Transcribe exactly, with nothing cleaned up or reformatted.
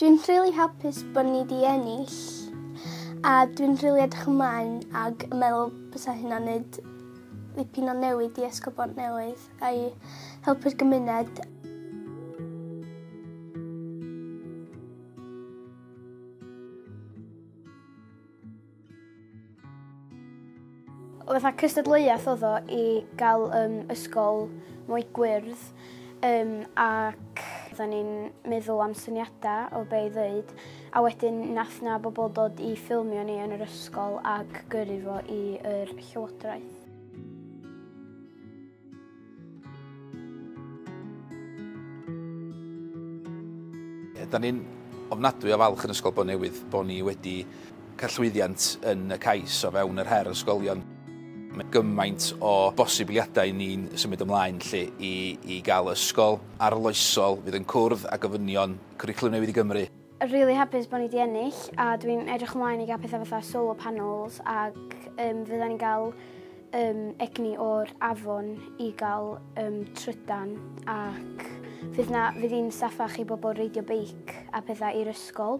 Dwi'n rili hapus bod ni 'di ennill a dwi'n rili edrych ymlaen ag yn meddwl bysa hynna'n neud dipyn o newid i Ysgol Bontnewydd a i helpu'r gymuned. Fatha cystadleuaeth oedd o i gael um, ysgol mwy gwyrdd um, ac oedden ni'n meddwl am syniadau o be i ddweud, a wedyn nath na bobl dod i ffilmio ni yn yr ysgol ac gyrru fo i'r llywodraeth. Da ni'n ofnadwy o falch yn Ysgol Bontnewydd bod ni wedi cael llwyddiant yn y cais o fewn yr her ysgolion. Mae gymaint o bosibiliadau ni'n symud ymlaen lle i, i gael ysgol arloesol fydd yn cwrdd â gofynion Cwricwlwm Newydd i Gymru. Really hapus bod ni wedi ennill a dwi'n edrych ymlaen i gael pethau fatha solar panels ac um, fydda ni'n gael um, egni o'r afon i gael um, trydan ac fydd, na, fydd hi'n saffach i bobl reidio beic a pethau i'r ysgol.